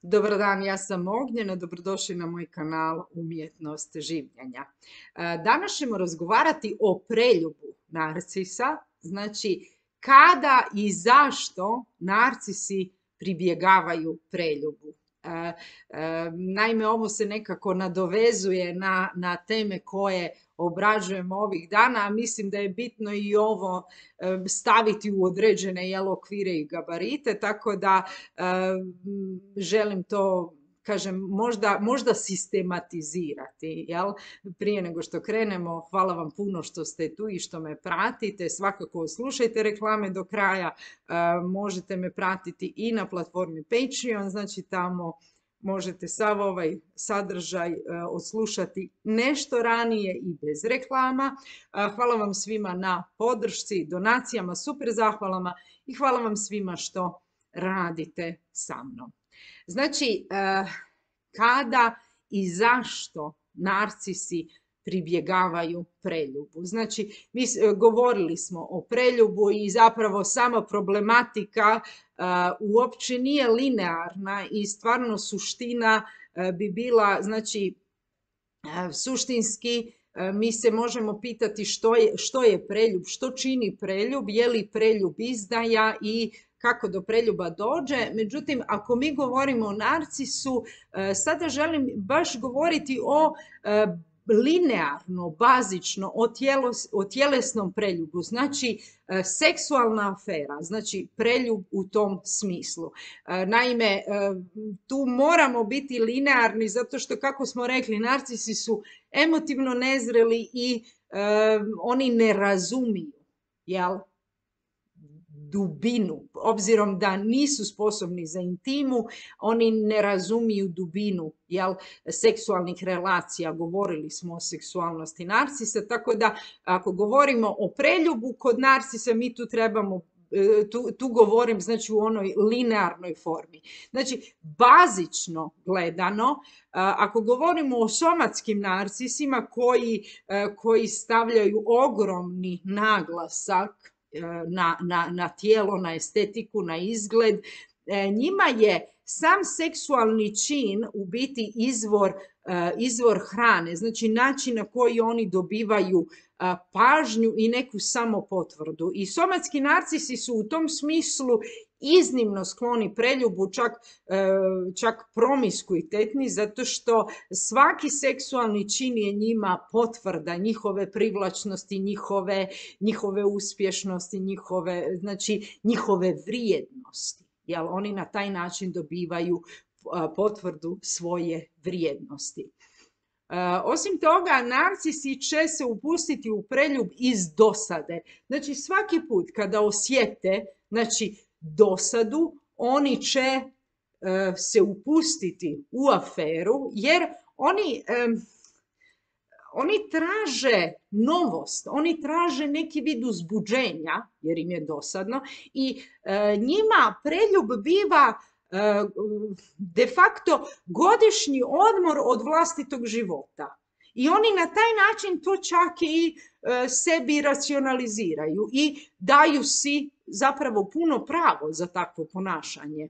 Dobar dan, ja sam Ognjena, dobrodošli na moj kanal Umjetnost življenja. Danas ćemo razgovarati o preljubu narcisa, znači kada i zašto narcisi pribjegavaju preljubu. Naime, ovo se nekako nadovezuje na teme koje obrađujemo ovih dana, a mislim da je bitno i ovo staviti u određene okvire i gabarite, tako da želim to, kažem, možda sistematizirati, jel? Prije nego što krenemo, hvala vam puno što ste tu i što me pratite. Svakako slušajte reklame do kraja. Možete me pratiti i na platformi Patreon, znači tamo možete sav ovaj sadržaj odslušati nešto ranije i bez reklama. Hvala vam svima na podršci, donacijama, super zahvalama i hvala vam svima što radite sa mnom. Znači, kada i zašto narcisi pribjegavaju preljubu? Znači, mi govorili smo o preljubu i zapravo sama problematika uopće nije linearna i stvarno suština bi bila, znači, suštinski mi se možemo pitati što je preljub, što čini preljub, je li preljub izdaja i kako do preljuba dođe. Međutim, ako mi govorimo o narcisu, sada želim baš govoriti o linearno, bazično, o tjelesnom preljubu, znači seksualna afera, znači preljub u tom smislu. Naime, tu moramo biti linearni zato što, kako smo rekli, narcisi su emotivno nezreli i oni ne razumiju, jel, dubinu, obzirom da nisu sposobni za intimu, oni ne razumiju dubinu, jel, seksualnih relacija. Govorili smo o seksualnosti narcisa, tako da ako govorimo o preljubu kod narcisa, mi tu trebamo, tu govorim, znači, u onoj linearnoj formi. Znači, bazično gledano, ako govorimo o somatskim narcisima koji stavljaju ogromni naglasak na tijelo, na estetiku, na izgled, njima je sam seksualni čin u biti izvor hrane, znači način na koji oni dobivaju pažnju i neku samopotvrdu. I somatski narcisi su u tom smislu iznimno skloni preljubu, čak promiskuitetni, zato što svaki seksualni čin je njima potvrda njihove privlačnosti, njihove uspješnosti, njihove vrijednosti. Jel, oni na taj način dobivaju potvrdu svoje vrijednosti. Osim toga, narcisi će se upustiti u preljub iz dosade. Znači, svaki put kada osjete, znači, dosadu, oni će se upustiti u aferu, jer oni traže novost, oni traže neki vid uzbuđenja, jer im je dosadno, i njima preljub biva de facto godišnji odmor od vlastitog života. I oni na taj način to čak i sebi racionaliziraju i daju si zapravo puno pravo za takvo ponašanje.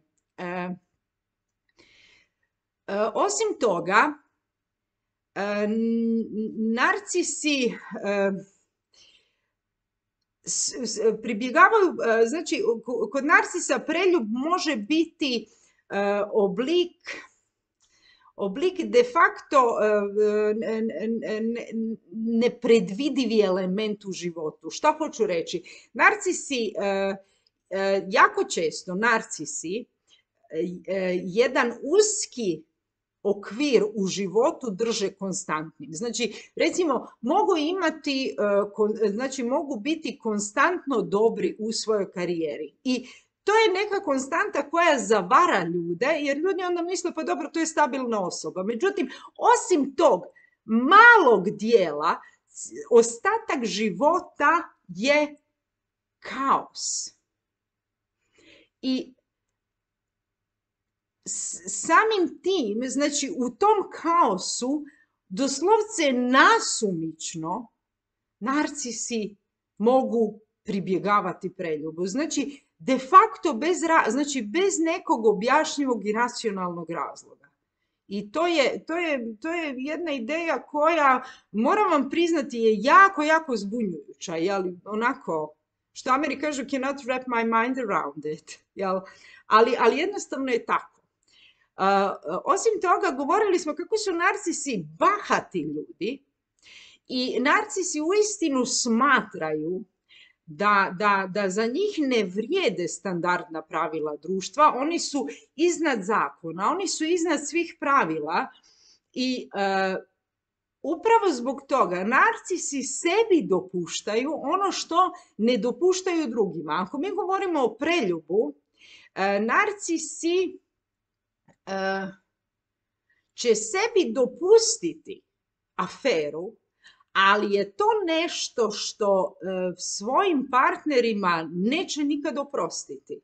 Osim toga, narcisi pribjegavaju, znači, kod narcisa preljub može biti oblik de facto nepredvidivi element u životu. Šta hoću reći? Narcisi, jako često narcisi jedan uski okvir u životu drže konstantnim. Znači, recimo, mogu biti konstantno dobri u svojoj karijeri. I to je neka konstanta koja zavara ljude, jer ljudi onda misle, pa dobro, to je stabilna osoba. Međutim, osim tog malog dijela, ostatak života je kaos. I samim tim, znači, u tom kaosu doslovce nasumično narcisi mogu pribjegavati preljubu. Znači, de facto znači bez nekog objašnjivog i racionalnog razloga. I to je jedna ideja koja, moram vam priznati, je jako, jako zbunjujuća. Jel? Onako, što Ameri kažu, cannot wrap my mind around it. Jel? Ali jednostavno je tako. Osim toga, govorili smo kako su narcisi bahati ljudi i narcisi uistinu smatraju da za njih ne vrijede standardna pravila društva, oni su iznad zakona, oni su iznad svih pravila i upravo zbog toga narcisi sebi dopuštaju ono što ne dopuštaju drugima. Ako mi govorimo o preljubu, narcisi će sebi dopustiti aferu, ali je to nešto što svojim partnerima neće nikad oprostiti.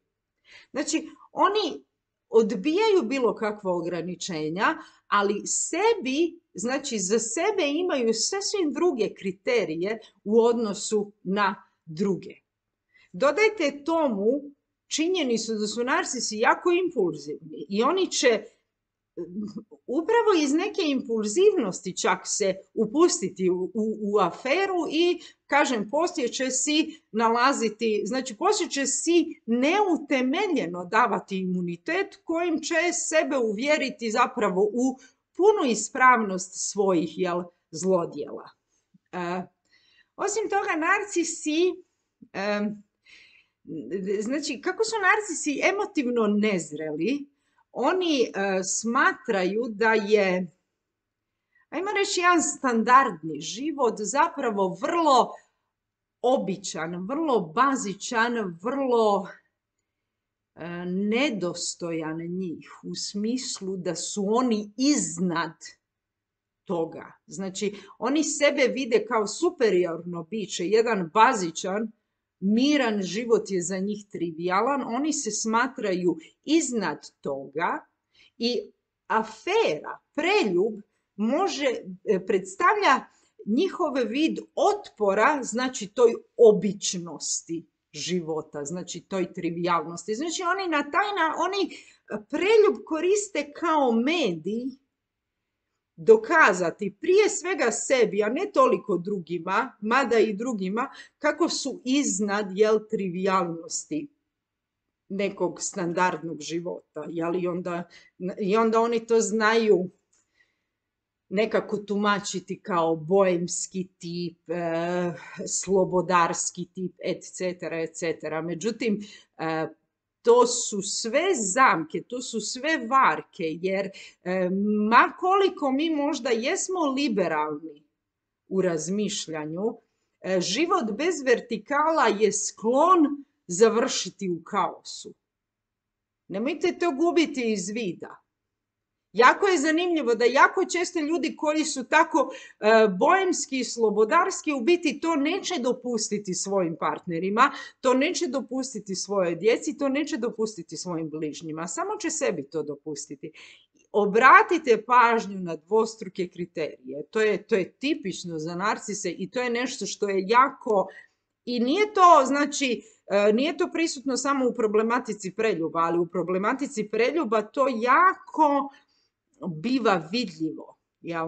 Znači, oni odbijaju bilo kakva ograničenja, ali sebi, znači za sebe imaju sasvim druge kriterije u odnosu na druge. Dodajte tomu činjenicu da su narcisi jako impulzivni i oni će upravo iz neke impulzivnosti čak se upustiti u aferu i, kažem, poslije će si nalaziti, znači poslije će si neutemeljeno davati imunitet kojim će sebe uvjeriti zapravo u punu ispravnost svojih zlodjela. Osim toga, narcisi, znači kako su narcisi emotivno nezreli, oni smatraju da je, ajmo reći, jedan standardni život zapravo vrlo običan, vrlo bazičan, vrlo nedostojan njih u smislu da su oni iznad toga. Znači, oni sebe vide kao superiorno biće, jedan bazičan, miran život je za njih trivialan, oni se smatraju iznad toga i afera, preljub, predstavlja njihov vid otpora, znači toj običnosti života, znači toj trivialnosti. Znači oni preljub koriste kao medij dokazati prije svega sebi, a ne toliko drugima, mada i drugima, kako su iznad trivialnosti nekog standardnog života. I onda oni to znaju nekako tumačiti kao boemski tip, slobodarski tip, etc., etc. Međutim, to su sve zamke, to su sve varke, jer ma koliko mi možda jesmo liberalni u razmišljanju, život bez vertikala je sklon završiti u kaosu. Nemojte to gubiti iz vida. Jako je zanimljivo da jako često ljudi koji su tako boemski i slobodarski u biti to neće dopustiti svojim partnerima, to neće dopustiti svojoj djeci, to neće dopustiti svojim bližnjima, samo će sebi to dopustiti. Obratite pažnju na dvostruke kriterije. To je tipično za narcise i to je nešto što je jako, i nije to, znači, nije to prisutno samo u problematici preljuba, ali u problematici preljuba to jako biva vidljivo. Jel?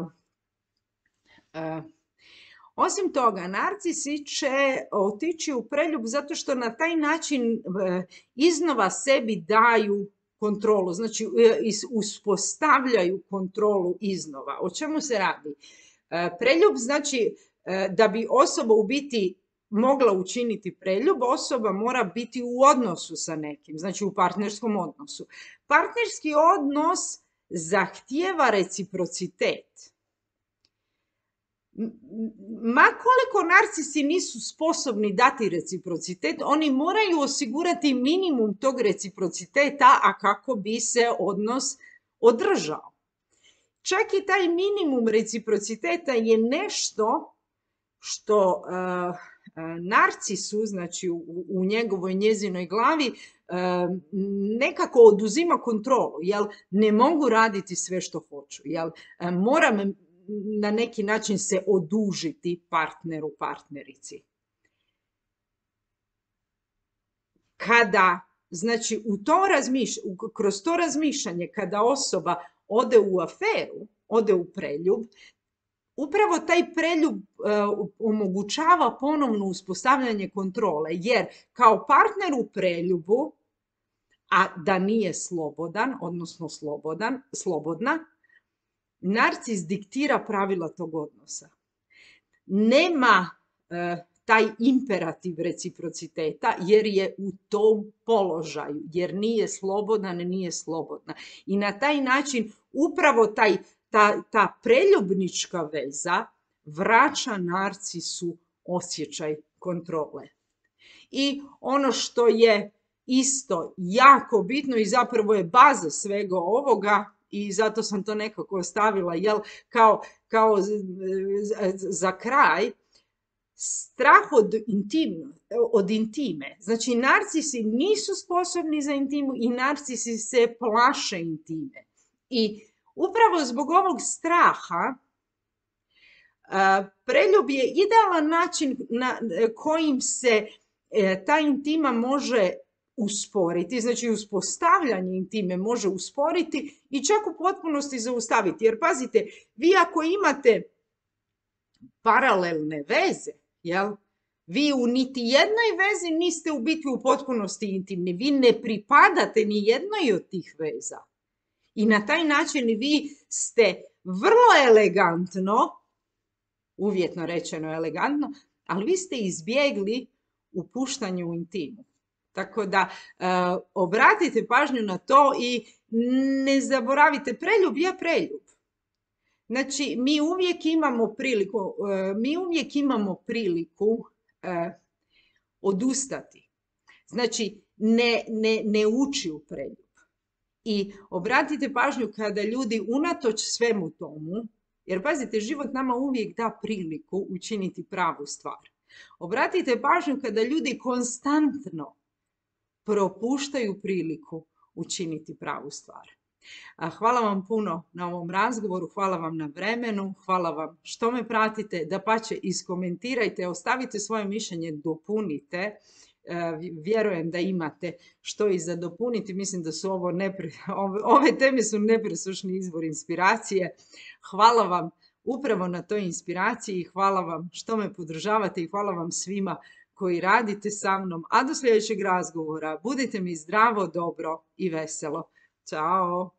Osim toga, narcisi će otići u preljub zato što na taj način iznova sebi daju kontrolu, znači uspostavljaju kontrolu iznova. O čemu se radi? Preljub znači da bi osoba u biti mogla učiniti preljub, osoba mora biti u odnosu sa nekim, znači u partnerskom odnosu. Partnerski odnos zahtijeva reciprocitet. Ma koliko narcisi nisu sposobni dati reciprocitet, oni moraju osigurati minimum tog reciprociteta, a kako bi se odnos održao. Čak i taj minimum reciprociteta je nešto što narcisu, znači u njegovoj njezinoj glavi, nekako oduzima kontrolu, jel? Ne mogu raditi sve što hoću, jel? Moram na neki način se odužiti partneru, partnerici. Kada znači kroz to razmišljanje kada osoba ode u aferu, ode u preljub, upravo taj preljub omogućava ponovno uspostavljanje kontrole, jer kao partner u preljubu, a da nije slobodan, odnosno slobodna, narcis diktira pravila tog odnosa. Nema taj imperativ reciprociteta jer je u tom položaju, jer nije slobodan, nije slobodna. I na taj način upravo ta preljubnička veza vraća narcisu osjećaj kontrole. I ono što je isto jako bitno i zapravo je baza svega ovoga, i zato sam to nekako ostavila kao za kraj, strah od intime. Znači, narcisi nisu sposobni za intimu i narcisi se plaše intime. I upravo zbog ovog straha preljub je idealan način na kojim se ta intima može usporiti, znači uspostavljanje intime može usporiti i čak u potpunosti zaustaviti. Jer pazite, vi ako imate paralelne veze, vi u niti jednoj vezi niste u biti u potpunosti intimni, vi ne pripadate ni jednoj od tih veza. I na taj način vi ste vrlo elegantno, uvjetno rečeno elegantno, ali vi ste izbjegli upuštanje u intimu. Tako da obratite pažnju na to i ne zaboravite, preljub je preljub. Znači, mi uvijek imamo priliku odustati. Znači, ne ući u preljub. I obratite pažnju kada ljudi unatoč svemu tomu, jer pazite, život nama uvijek da priliku učiniti pravu stvar. Obratite pažnju kada ljudi konstantno propuštaju priliku učiniti pravu stvar. Hvala vam puno na ovom razgovoru, hvala vam na vremenu, hvala vam što me pratite, dapače iskomentirajte, ostavite svoje mišljenje, dopunite. Vjerujem da imate što i za dopuniti, mislim da su ove teme su nepresušni izvor inspiracije. Hvala vam upravo na toj inspiraciji i hvala vam što me podržavate i hvala vam svima koji radite sa mnom. A do sljedećeg razgovora budite mi zdravo, dobro i veselo. Ćao!